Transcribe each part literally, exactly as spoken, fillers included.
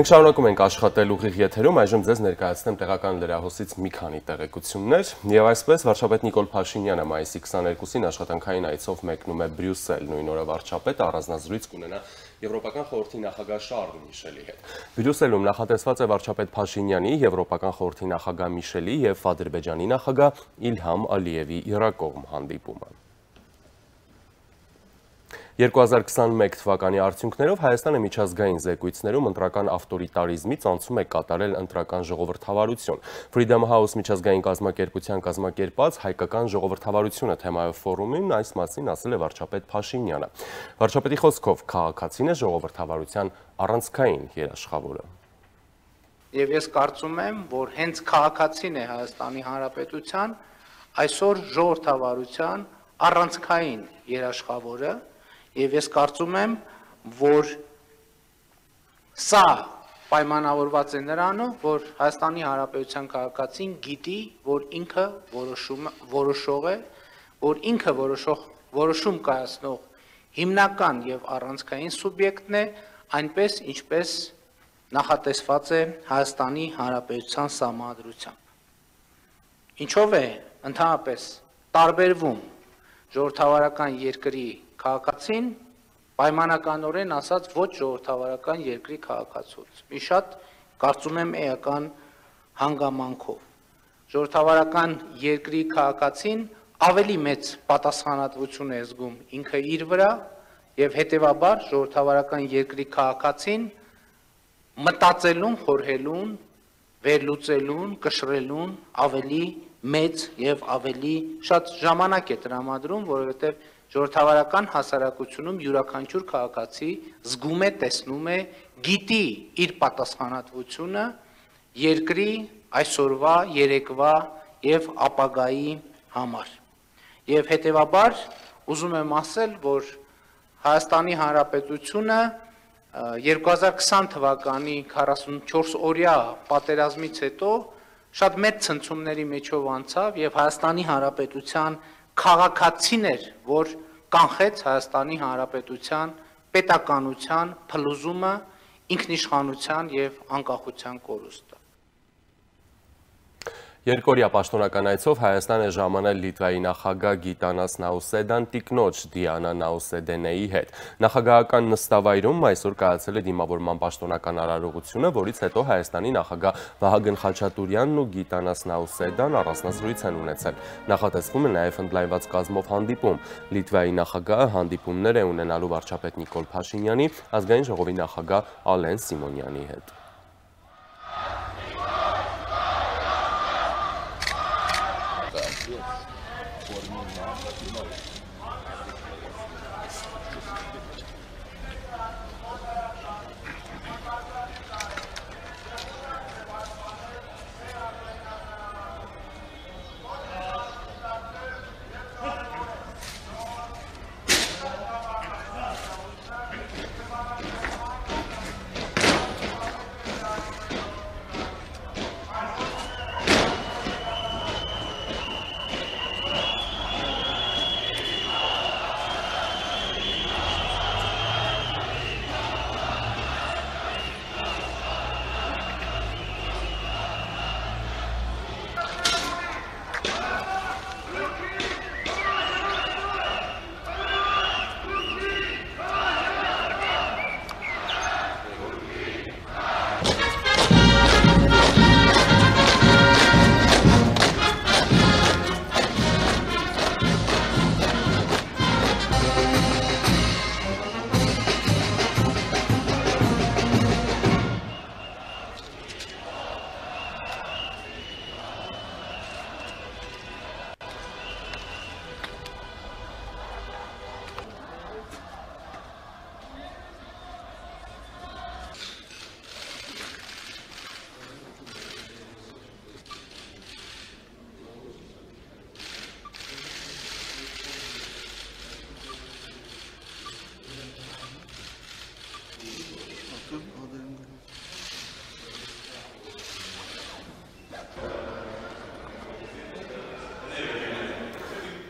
Մենք շարունակում ենք աշխատել ուղիղ եթերում, այժմ ձեզ ներկայացնեմ տեղական լրահոսից մի քանի տեղեկություններ, եւ այսպես վարչապետ Նիկոլ Փաշինյանը մայիսի քսաներկուսին աշխատանքային այցով մեկնում է Բրյուսել, նույն օրը վարչապետը առանձնազրույց կունենա Եվրոպական խորհրդի նախագահ Շարլ Միշելի հետ։ Բրյուսելում նախատեսված է վարչապետ Փաշինյանի, Եվրոպական խորհրդի նախագահ Միշելի եւ Ադրբեջանի նախագահ Իլհամ Ալիևի իրակողմ հանդիպումը։ երկու հազար քսանմեկ թվականի արդյունքներով Հայաստանը միջազգային զեկույցներում ընտրական ավտորիտարիզմից անցում է կատարել ընտրական ժողովրդավարություն։ Freedom House միջազգային կազմակերպության կազմակերպած հայկական ժողովրդավարությունը թեմայով ֆորումին այս մասին ասել է վարչապետ Փաշինյանը։ Վարչապետի խոսքով քաղաքացին է ժողովրդավարության առանցքային երաշխավորը։ Եվ ես կարծում եմ, որ հենց քաղաքացին է Հայաստանի Հանրապետության այսօր ժողովրդավարության առանցքային երաշխավորը, եւ ես կարծում եմ, որ սա պայմանավորված է նրանով, որ Հայաստանի Հանրապետության քաղաքացին գիտի, որ ինքը որոշող է, որ ինքը որոշում կայացնող հիմնական եւ առանցքային սուբյեկտն է, այնպես ինչպես նախատեսված է Հայաստանի Հանրապետության Սահմանադրությամբ։ Ինչով է ընդհանրապես տարբերվում ժողովրդավարական երկրի քաղաքացին պայմանականորեն ասած ոչ ժողովրդավարական երկրի քաղաքացուց։ Մի շատ կարծում եմ էական հանգամանքով։ Ժողովրդավարական երկրի քաղաքացին ավելի մեծ պատասխանատվություն է զգում ինքը իր վրա եւ հետեւաբար ժողովրդավարական երկրի քաղաքացին մտածելուն, խորհելուն, վերլուծելուն, կշռելուն ավելի մեծ եւ ավելի շատ ժամանակ է տրամադրում, որովհետեւ ժողովրդավարական հասարակությունում յուրաքանչյուր քաղաքացի զգում է, տեսնում է, գիտի իր պատասխանատվությունը երկրի այսօրվա, երեկվա եւ ապագայի համար։ Եվ հետեւաբար ուզում եմ ասել, որ Հայաստանի Հանրապետությունը երկու հազար քսան թվականի քառասունչորս օրյա պատերազմից հետո շատ մեծ ցնցումների միջով անցավ եւ Հայաստանի Հանրապետության քաղաքացին էր, որ կանխեց Հայաստանի Հանրապետության պետականության փլուզումը, ինքնիշխանության եւ անկախության կորուստը։ Երկօրյա պաշտոնական այցով Հայաստան է ժամանել Լիտվայի նախագահ Գիտանաս Նաուսեդան տիկնոջ Դիանա Նաուսեդենեի հետ։ Նախագահական նստավայրում այսօր կայացել է դիմավորման պաշտոնական արարողությունը, որից հետո Հայաստանի նախագահ Վահագն Խաչատուրյանն ու Գիտանաս Նաուսեդան առանձնազրույց են ունեցել։ Նախատեսվում է նաև ընդլայնված կազմով հանդիպում։ Լիտվայի նախագահը հանդիպումներ է ունենալու վարչապետ Նիկոլ Փաշինյանի, ազգային ժողովի նախագահ Ալեն Սիմոնյանի հետ։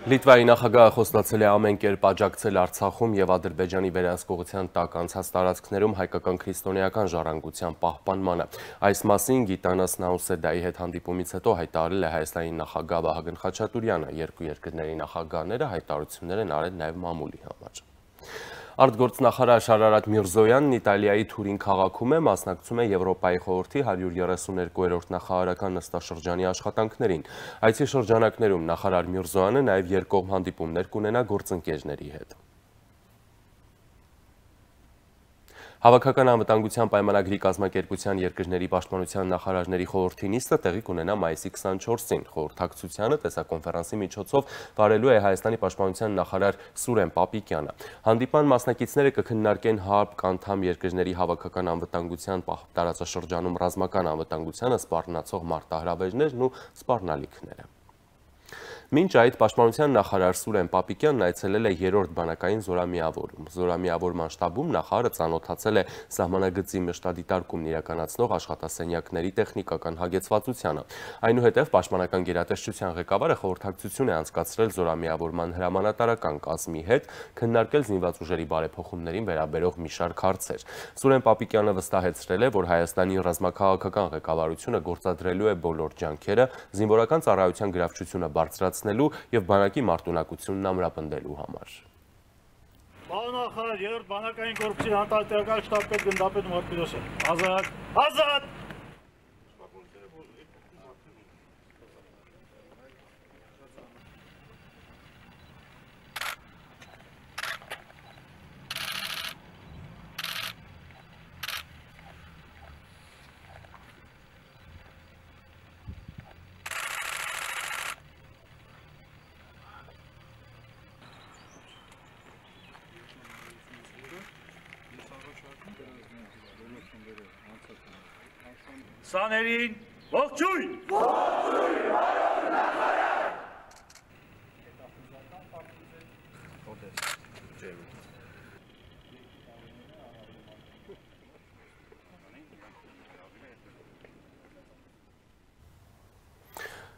Լիտվայի նախագահը խոստացել է ամեն կերպ աջակցել Արցախում եւ Ադրբեջանի վերահսկողության տակ անցած տարածքներում հայկական քրիստոնեական ժառանգության պահպանմանը։ Այս մասին Գիտանաս Նաուսեդայի հետ հանդիպումից հետո հայտարարել է Հայաստանի նախագահ Վահագն Խաչատուրյանը։ Երկու երկրների նախագահները հայտարարություններ են արել նաեւ մամուլի համար։ Արտգործնախարար Շարարատ Միրզոյանն Իտալիայի Թուրին քաղաքում է, մասնակցում է Եվրոպայի խորհրդի հարյուր երեսուներկուերորդ նախարարական նստաշրջանի աշխատանքներին։ Այցի շրջանակներում նախարար Միրզոյանը նաև երկկողմ հանդիպումներ կունենա գործընկերների հետ։ Հավաքական անվտանգության պայմանագրի կազմակերպության երկրների պաշտպանության նախարարների խորհրդի նիստը տեղի կունենա մայիսի քսանչորսին։ Խորհրդակցությանը տեսակոնֆերանսի միջոցով վարելու է Հայաստանի պաշտպանության նախարար Սուրեն Պապիկյանը։ Հանդիպան մասնակիցները կքննարկեն ՀԱՊԿ անդամ երկրների հավաքական անվտանգության տարածաշրջանում ռազմական անվտանգությանը սպառնացող մարտահրավերներն ու սպառնալիքները։ Մինչ այդ պաշտպանության նախարար Սուրեն Պապիկյանն այցելել է երրորդ բանակային զորամիավորում։ Զորամիավորման շտաբում նախարարը ծանոթացել է սահմանագծի մշտադիտարկումն իրականացնող աշխատասենյակների տեխնիկական հագեցվածությանը։ Այնուհետև պաշտպանական գերատեսչության ղեկավարը խորհրդակցություն է անցկացրել զորամիավորման հրամանատարական կազմի հետ, քննարկել զինված ուժերի բարեփոխումներին վերաբերող մի շարք հարցեր։ Սուրեն Պապիկյանը վստահեցրել է, որ Հայաստանի ռազմաքաղաքական ղեկավարությունը գործադրելու է բոլոր ջանքերը զինվորական ծառայության գրավչությունը բարձրացնել եւ բանակի մարտունակությունն ամրապնդելու համար։ Պարոն նախարար, երրորդ բանակային կորպուսի հանդարտական շտաբպետ գնդապետ Մարտիրոսյան։ Ազատ, ազատ։ Սաներին, ողջույն! Ողջույն, պարոն նախարար!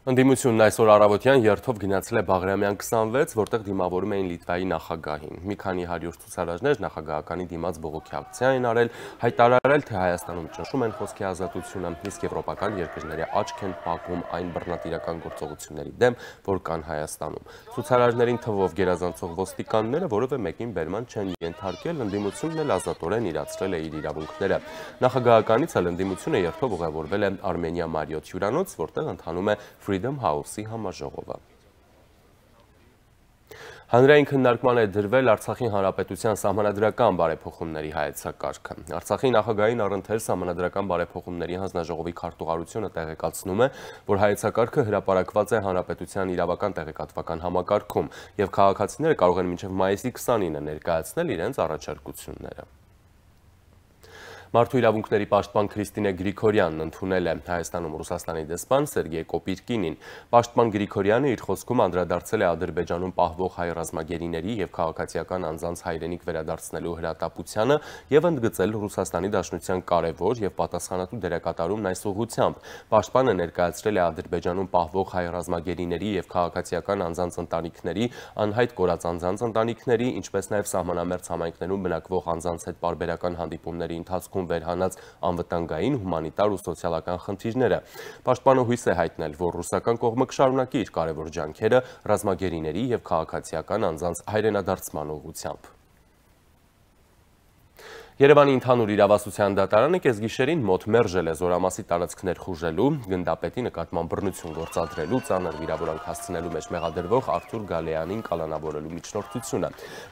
Ընդդիմությունն այսօր առավոտյան երթով գնացել է Բաղրամյան քսանվեց, որտեղ դիմավորում էին Լիտվայի նախագահին։ Մի քանի հարյուր ցուցարարներ նախագահականի դիմաց բողոքի ակցիա են արել, հայտարարել, թե Հայաստանում ճնշում են խոսքի ազատությունը, իսկ եվրոպական երկրների աչք են փակում այն բռնատիրական գործողությունների դեմ, որ կան Հայաստանում։ Ցուցարարներին թվով գերազանցող ոստիկանները որևէ մեկին բերման չեն ենթարկել, ընդդիմությունն էլ ազատորեն իրացրել է իր իրավունքները։ Նախագահականից էլ ընդդիմությունը երթով ուղևորվել է Արմենիա Մարիոթ հյուրանոց, որտեղ ընթանում է Freedom House-ի համաժողովը։ Հանրային քննարկման է դրվել Արցախի հանրապետության սահմանադրական բարեփոխումների հայեցակարգը։ Արցախի նախագահային առընթեր սահմանադրական բարեփոխումների հանձնաժողովի քարտուղարությունը տեղեկացնում է, որ հայեցակարգը հրապարակված է հանրապետության իրավական տեղեկատվական համակարգում, եւ քաղաքացիները կարող են մինչև մայիսի քսանինը ներկայացնել իրենց առաջարկությունները։ Մարդու իրավունքների պաշտպան Քրիստինե Գրիգորյանն ընդունել է Հայաստանում Ռուսաստանի դեսպան Սերգեյ Կոպիրկինին։ Պաշտպան Գրիգորյանը իր խոսքում անդրադարձել է Ադրբեջանում պահվող հայ ռազմագերիների եւ քաղաքացիական անձանց հայրենիք վերադարձնելու հրատապությանը եւ ընդգծել Ռուսաստանի Դաշնության կարևոր եւ պատասխանատու դերակատարումն այս ուղղությամբ։ Պաշտպանը ներկայացրել է Ադրբեջանում պահվող հայ ռազմագերիների եւ քաղաքացիական անձանց ընտանիքների, անհայտ կորած անձանց ընտանիքների, ինչպես նաեւ սահմանամերձ համայնքներում բնակվող անձանց հետ պարբերական հանդիպումների ընթացքում վերհանած անվտանգային, հումանիտար ու սոցիալական խնդիրները։ Պաշտպանը հույս է հայտնել, որ ռուսական կողմը կշարունակի իր կարևոր ջանքերը ռազմագերիների եւ քաղաքացիական անձանց հայրենադարձման ուղղությամբ։ Երևանի ընդհանուր իրավասության դատարանը կեսգիշերին մոտ մերժել է զորամասի տարածքներ խուժելու, գնդապետի նկատմամբ բռնություն գործադրելու, ծանր վիրավորանք հասցնելու մեջ մեղադրվող Արթուր Գալեյանին կալանավորելու միջնորդությունը։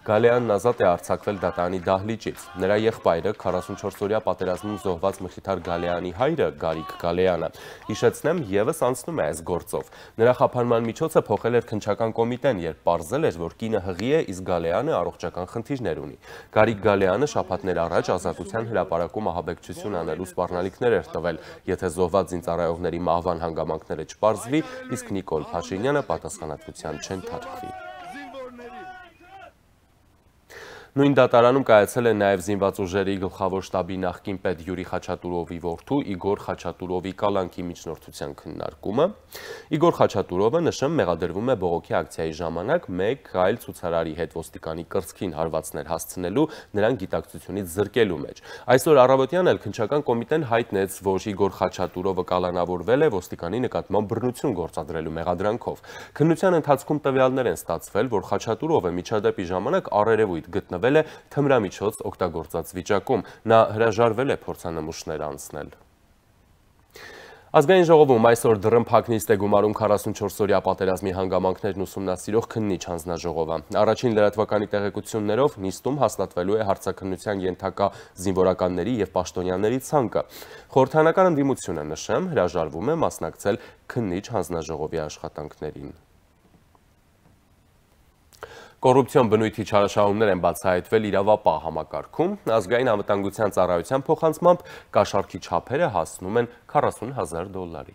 Գալեյանն ազատ է արձակվել դատարանի դահլիճից։ Նրա եղբայրը քառասունչորսօրյա պատերազմում զոհված Մխիթար Գալեյանի հայրը Գարիկ Գալեյանը, հիշեցնեմ, եւս անցնում է այս գործով։ Նրա խափանման միջոցը փոխել էր քննչական կոմիտեն, երբ պարզել էր, որ կինը հղի է, իսկ Գալեյանը առողջական խնդիրներ ունի։ Գարիկ Գալեյանը շաբաթներ առաջ ազատության հրապարակում ահաբեկչություն անելու սպառնալիքներ էր տվել, եթե զոհված զինծառայողների մահվան հանգամանքները չպարզվի, իսկ Նիկոլ Փաշինյանը պատասխանատվության չենթարկվի։ Նույն դատարանում կայացել է նաև զինված ուժերի գլխավոր շտաբի նախկին պետ Յուրի Խաչատուրովի որդու Իգոր Խաչատուրովի կալանքի միջնորդության քննարկումը։ Իգոր Խաչատուրովը, նշեմ, մեղադրվում է բողոքի ակցիայի ժամանակ մեկ այլ ցուցարարի հետ ոստիկանի կրծքին հարվածներ հասցնելու, նրան գիտակցությունից զրկելու մեջ։ Այսօր առավոտյան էլ քննչական կոմիտեն հայտնեց, որ Իգոր Խաչատուրովը կալանավորվել է ոստիկանի նկատմամբ բռնություն գործադրելու մեղադրանքով։ Քննության ընթացքում տվյալներ են ստացվել, որ Խաչատուրովը միջադեպի ժամանակ առերևույթ գտնվել է թմրամիջոց օգտագործած վիճակում, նա հրաժարվել է փորձանմուշներ անցնել։ Ազգային ժողովում այսօր դռնփակ նիստ է գումարում քառասունչորս-օրյա պատերազմի հանգամանքներն ուսումնասիրող քննիչ հանձնաժողովը։ Առաջին լրատվականի տեղեկություններով նիստում հաստատվելու է հարցաքննության ենթակա զինվորականների եւ պաշտոնյաների ցանկը։ Խորհրդարանական ընդդիմությունը, նշեմ, հրաժարվում է մասնակցել քննիչ հանձնաժողովի աշխատանքներին։ Կոռուպցիոն բնույթի չարաշահումներ են բացահայտվել իրավապահ համակարգում, ազգային անվտանգության ծառայության փոխանցմամբ կաշառքի չափերը հասնում են քառասուն հազար դոլարի։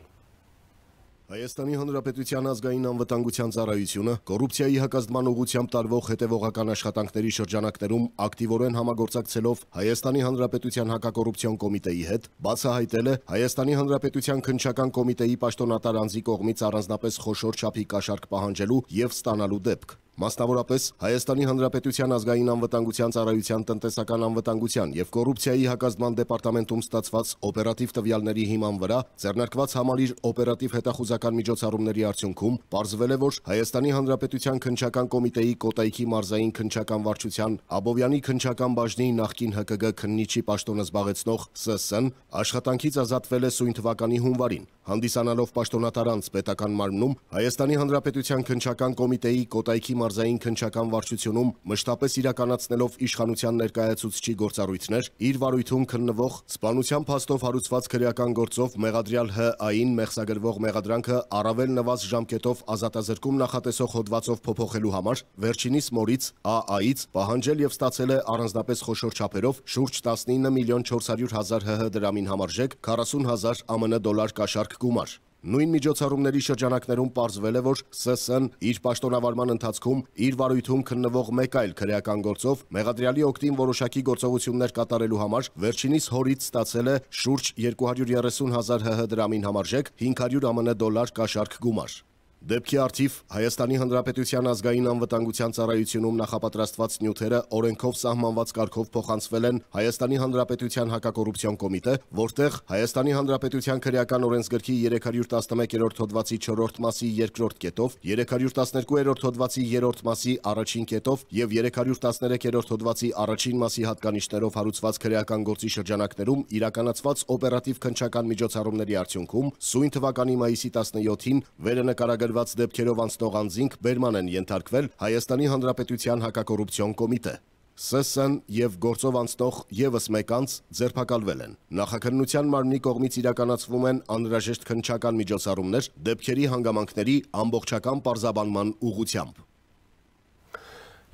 Հայաստանի Հանրապետության ազգային անվտանգության ծառայությունը կոռուպցիայի հակազդման ուղղությամբ տարվող հետևողական աշխատանքների շրջանակներում ակտիվորեն համագործակցելով Հայաստանի Հանրապետության հակակոռուպցիոն կոմիտեի հետ բացահայտել է Հայաստանի Հանրապետության քննչական կոմիտեի պաշտոնատար անձի կողմից առանձնապես խոշոր չափի կաշառք պահանջելու եւ ստանալու դեպք։ Մասնավորապես Հայաստանի Հանրապետության ազգային անվտանգության ծառայության տնտեսական անվտանգության եւ կոռուպցիայի հակազդման դեպարտամենտում ստացված օպերատիվ տվյալների հիման վրա ձեռնարկված համալիր օպերատիվ հետախուզական միջոցառումների արդյունքում պարզվել է, որ Հայաստանի Հանրապետության քննչական կոմիտեի Կոտայքի մարզային քննչական վարչության Աբովյանի քննչական բաժնի նախկին Հ Կ Գ քննիչի պաշտոնը զբաղեցնող Ս Ս-ն աշխատանքից ազատվել է սույն թվականի հունվարին, հանդիսանալով պաշտոնատար անձ պետական մարմնում Հայաստանի Հանրապետության քննչական կոմիտեի Կոտայքի մարզային քննչական վարչությունում մշտապես իրականացնելով իշխանության ներկայացուցչի գործառույթներ, իր վարույթում քննվող սպանության փաստով հարուցված քրեական գործով մեղադրյալ Հ Ա-ին մեղսագրվող մեղադրանքը առավել նվազ ժամկետով ազատազրկում նախատեսող հոդվածով փոփոխելու համար վերջինիս մորից Ա Ա-ից պահանջել եւ ստացել է առանձնապես խոշոր չափերով շուրջ տասնինը միլիոն չորս հարյուր հազար Հ Հ դրամին համարժեք քառասուն հազար Ա Մ Ն դոլար կաշառք գումար։ Նույն միջոցառումների շրջանակներում պարզվել է, որ Ս Ս-ն իր պաշտոնավարման ընթացքում իր վարույթում քննվող մեկ այլ քրեական գործով մեղադրյալի օգտին որոշակի գործողություններ կատարելու համար վերջինիս հորից ստացել է շուրջ երկու հարյուր երեսուն հազար Հ Հ դրամին համարժեք հինգ հարյուր Ա Մ Ն դոլար կաշառք գումար։ Դեպքի արդիվ Հայաստանի Հանրապետության ազգային անվտանգության ծառայությունում նախապատրաստված նյութերը օրենքով սահմանված կարգով փոխանցվել են Հայաստանի Հանրապետության հակակոռուպցիոն կոմիտե, որտեղ Հայաստանի Հանրապետության քրեական օրենսգրքի երեք հարյուր տասնմեկերորդ հոդվածի չորրորդ մասի երկրորդ կետով, երեք հարյուր տասներկուերորդ հոդվածի երրորդ մասի առաջին կետով եւ երեք հարյուր տասներեքերորդ հոդվածի առաջին մասի հատկանիշներով հարուցված քրեական գործի շրջանակներում իրականացված օպերատիվ քննչական միջոցառումների արդյունքում սույն թվականի մայիսի տասնյոթին վերնկարագրված դեպքերով անցնող անձինք բերման են ենթարկվել Հայաստանի Հանրապետության հակակոռուպցիոն կոմիտե։ Ս Ս-ն եւ գործով անցնող եւս մեկ անձ ձերբակալվել են։ Նախաքննության մարմնի կողմից իրականացվում են անհրաժեշտ քննչական միջոցառումներ դեպքերի հանգամանքների ամբողջական պարզաբանման ուղղությամբ։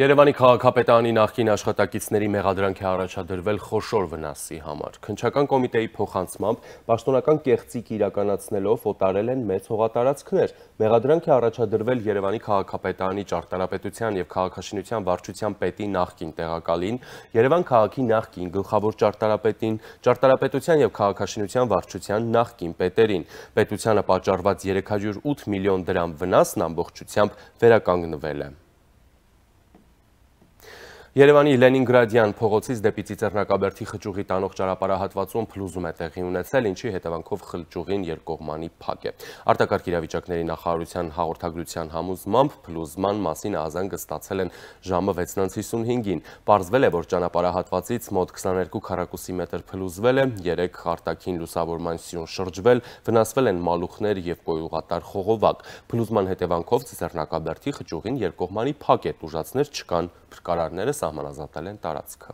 Երևանի քաղաքապետարանի նախկին աշխատակիցների մեղադրանք է առաջադրվել խոշոր վնասի համար։ Քննչական կոմիտեի փոխանցմամբ պաշտոնական կեղծիք իրականացնելով օտարել են մեծ հողատարածքներ։ Մեղադրանք է առաջադրվել Երևանի քաղաքապետարանի ճարտարապետության եւ քաղաքաշինության վարչության պետի նախկին տեղակալին, Երևան քաղաքի նախկին գլխավոր ճարտարապետին, ճարտարապետության եւ քաղաքաշինության վարչության նախկին պետերին։ Պետությանը պատճառված երեք հարյուր ութ միլիոն դրամ վնասն ամբողջությամբ վերականգնվել է։ Երևանի Լենինգրադյան փողոցից դեպի Ծիծեռնակաբերդի խճուղի տանող ճանապարհահատվածում փլուզում է տեղի ունեցել, ինչի հետևանքով խճուղին երկկողմանի փակ է։ Արտակարգ իրավիճակների նախարարության հաղորդագրության համոզմամբ փլուզման մասին ահազանգը ստացել են ժամը վեցն հիսունհինգին։ Պարզվել է, որ ճանապարհահատվածից մոտ քսաներկու քառակուսի մետր փլուզվել է, երեք արտաքին լուսավորման սյուն շրջվել, վնասվել են մալուխներ եւ կոյուղատար խողովակ։ Փլուզման հետևանքով Ծիծեռնակաբերդի խճուղին երկկողմանի փակ է, տուժածներ չկան, փրկարարները սահմանազատել են տարածքը։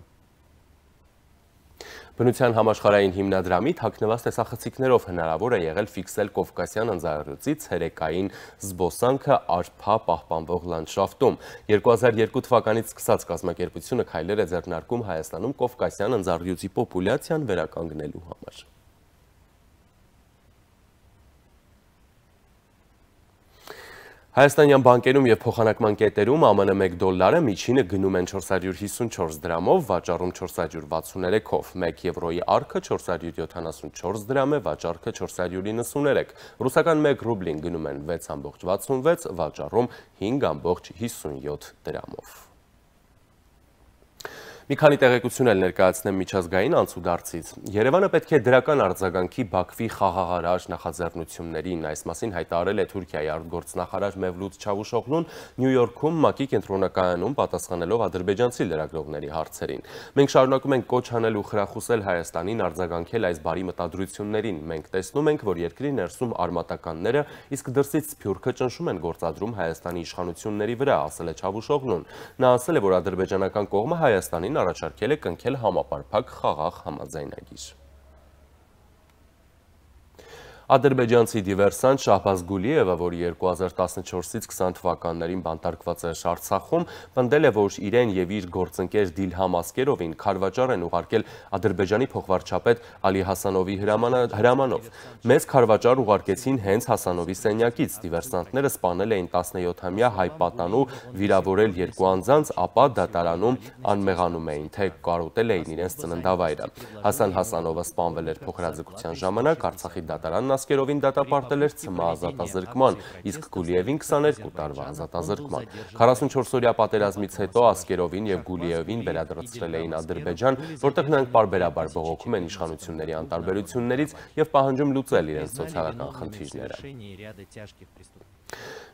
Բնության համաշխարհային հիմնադրամի թաքնված տեսախցիկներով հնարավոր է եղել ֆիքսել Կովկասյան ընձառյուծից ցերեկային զբոսանքը Արփա պահպանվող լանդշաֆտում։ երկու հազար երկու թվականից սկսած կազմակերպությունը քայլեր է ձեռնարկում Հայաստանում Կովկասյան ընձառյուծի պոպուլյացիան վերականգնելու համար։ Հայաստանյան բանկերում և փոխանակման կետերում ԱՄՆ մեկ դոլարը միջինը գնում են չորս հարյուր հիսունչորս դրամով, վաճառում չորս հարյուր վաթսուներեքով, մեկ եվրոյի առքը չորս հարյուր յոթանասունչորս դրամ է, վաճառքը չորս հարյուր իննսուներեք, ռուսական մեկ ռուբլին գնում են վեց կόμma վաթսունվեց, վաճառում հինգ կόμma հիսունյոթ դրամով։ Մի քանի տեղեկություն էլ ներկայացնեմ միջազգային անցուդարձից։ Երևանը պետք է դրական արձագանքի Բաքվի խաղաղարար նախաձեռնություններին, այս մասին հայտարարել է Թուրքիայի արտգործնախարար Մևլութ Չավուշօղլուն Նյու Յորքում ՄԱԿ-ի կենտրոնակայանում պատասխանելով ադրբեջանցի լրագրողների հարցերին։ Մենք շարունակում ենք կոչ անել ու խրախուսել Հայաստանին արձագանքել այս բարի մտադրություններին։ Մենք տեսնում ենք, որ երկրի ներսում արմատականները, իսկ դրսից Սփյուռքը ճնշում են գործադրում Հայաստանի իշխանությունների վրա, ասել է Չավուշօղլուն։ Նա ասել է, որ ադրբեջանական կողմը Հայաստանին առաջարկել է կնքել համապարփակ խաղաղ համաձայնագիր։ Ադրբեջանցի դիվերսանտ Շահբազ Գուլիևը, որ երկու հազար տասնչորսից քսան թվականներին բանտարկված էր Արցախում, պնդել է, որ իրեն եւ իր գործընկեր Դիլհամ Ասկերովին քարվաճառ են ուղարկել Ադրբեջանի փոխվարչապետ Ալի Հասանովի հրամանով։ Մեծ քարվաճառ ուղարկեցին հենց Հասանովի սենյակից։ Դիվերսանտները սպանել էին տասնյոթամյա հայ պատանու, վիրավորել երկու անձանց, ապա դատարանում անմեղանում էին, թե կարոտել էին իրենց ծննդավայրը։ Հասան Հասանովը սպանվել էր փոխհրաձգության ժամանակ, Արցախի դատարանն Ասկերովին դատապարտել էր ցմահ ազատազրկման, իսկ Գուլիևին քսաներկու տարվա ազատազրկման։ քառասունչորսօրյա պատերազմից հետո Ասկերովին եւ Գուլիևին վերադարձրել էին Ադրբեջան, որտեղ նրանք պարբերաբար բողոքում են իշխանությունների անտարբերություններից եւ պահանջում լուծել իրենց սոցիալական խնդիրները։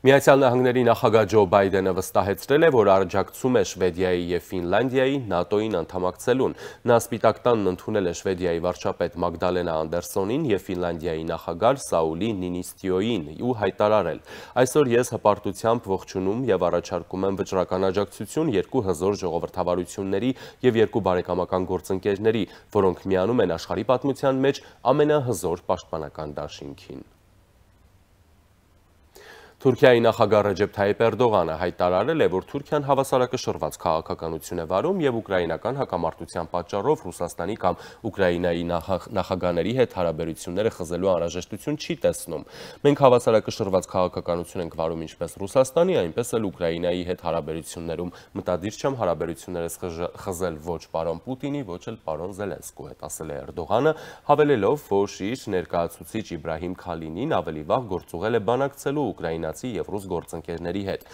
Միացյալ Նահանգների նախագահ Ջո Բայդենը վստահեցրել է, որ աջակցում է Շվեդիայի եւ Ֆինլանդիայի ՆԱՏՕ-ին անդամակցելուն։ Նա Սպիտակ տանն ընդունել է Շվեդիայի վարչապետ Մագդալենա Անդերսոնին եւ Ֆինլանդիայի նախագահ Սաուլի Նինիստիոյին ու հայտարարել. Այսօր ես հպարտությամբ ողջունում եւ առաջարկում եմ վճռական աջակցություն երկու հզոր ժողովրդավարությունների եւ երկու բարեկամական գործընկերների, որոնք միանում են աշխարհի պատմության մեջ ամենահզոր պաշտպանական դաշինքին։ Թուրքիայի նախագահ Ռեջեփ Թայիփ Էրդողանը հայտարարել է, որ Թուրքիան հավասարակշռված քաղաքականություն է վարում եւ ուկրաինական հակամարտության պատճառով Ռուսաստանի կամ Ուկրաինայի նախագահների հետ հարաբերությունները խզելու անհրաժեշտություն չի տեսնում։ Մենք հավասարակշռված քաղաքականություն ենք վարում ինչպես Ռուսաստանի, այնպես էլ Ուկրաինայի հետ հարաբերություններում։ Մտադիր չեմ հարաբերություններս խզել ոչ պարոն Պուտինի, ոչ էլ պարոն Զելենսկու հետ, ասել է Էրդողանը, հավելելով, որ իր ներկայացուցիչ Իբրահիմ Քալինին ավելի վաղ գործուղել է բանակցելու Ուկրաինա եւ ռուս գործընկերների հետ։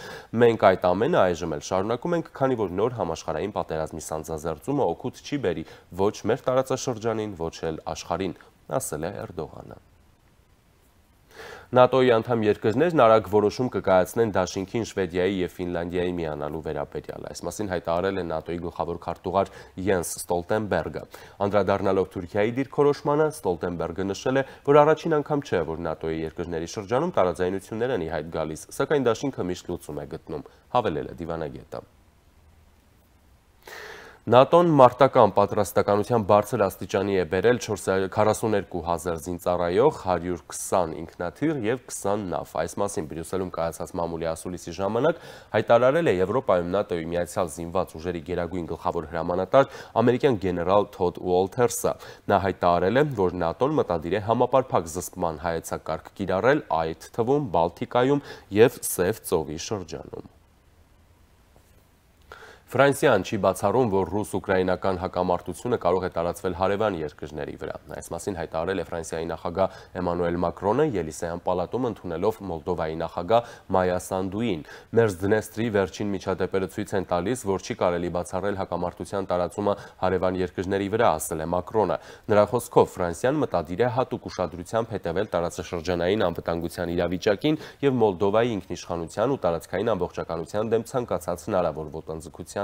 Մենք այդ ամենը այժմ էլ շարունակում ենք, քանի որ նոր համաշխարհային պատերազմի սանձազերծումը օգուտ չի բերի ոչ մեր տարածաշրջանին, ոչ էլ աշխարհին, ասել է Էրդողանը։ ՆԱՏՕ-ի անդամ երկրներն արագ որոշում կկայացնեն դաշինքին Շվեդիայի եւ Ֆինլանդիայի միանալու վերաբերյալ։ Այս մասին հայտարարել է ՆԱՏՕ-ի գլխավոր քարտուղար Յենս Ստոլտենբերգը։ Անդրադառնալով Թուրքիայի դիրքորոշմանը, Ստոլտենբերգը նշել է, որ առաջին անգամ չէ, որ ՆԱՏՕ-ի երկրների շրջանում տարաձայնություններ են ի հայտ գալիս, սակայն դաշինքը միշտ լուծում է գտնում, հավելել է դիվանագետը։ ՆԱՏՕ-ն մարտական պատրաստականության բարձր աստիճանի է բերել քառասուներկու հազար զինծառայող, հարյուր քսան ինքնաթիռ եւ քսան նավ։ Այս մասին Բրյուսելում կայացած մամուլի ասուլիսի ժամանակ հայտարարել է Եվրոպայում ՆԱՏՕ-ի միացյալ զինված ուժերի գերագույն գլխավոր հրամանատար ամերիկյան գեներալ Թոդ Ուոլթերսը։ Նա հայտարարել է, որ ՆԱՏՕ-ն մտադիր է համապարփակ զսպման հայեցակարգ կիրառել, այդ թվում Բալտիկայում եւ Սև ծովի շրջանում։ Ֆրանսիան չի բացառում, որ ռուս-ուկրաինական հակամարտությունը կարող է տարածվել հարևան երկրների վրա։ Այս մասին հայտարարել է Ֆրանսիայի նախագահ Էմանուել Մակրոնը Ելիսեյան պալատում ընդունելով Մոլդովայի նախագահ Մայա Սանդուին։ Մերձդնեստրի վերջին միջադեպերը ցույց են տալիս, որ չի կարելի բացառել հակամարտության տարածումը հարևան երկրների վրա, ասել է Մակրոնը։ Նրա խոսքով Ֆրանսիան մտադիր է հատուկ ուշադրությամբ հետևել տարածաշրջանային անվտանգության իրավիճակին եւ Մոլդովայի ինքնիշխանության ու տարածքային ամբողջականության դեմ ցանկացած հնարավոր ոտնձգության։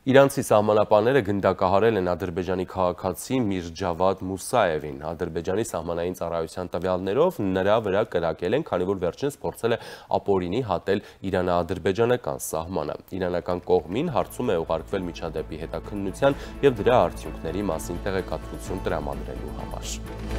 Իրանցի սահմանապահները գնդակահարել են Ադրբեջանի քաղաքացի Միրջավադ Մուսաևին։ Ադրբեջանի սահմանային ծառայության տվյալներով նրա վրա կրակել են, քանի որ վերջինս փորձել է ապօրինի հատել իրано-ադրբեջանական սահմանը։ Իրանական կողմին հարցում է ուղարկվել միջադեպի հետաքննության եւ դրա արդյունքների մասին տեղեկատվություն տրամադրելու համար։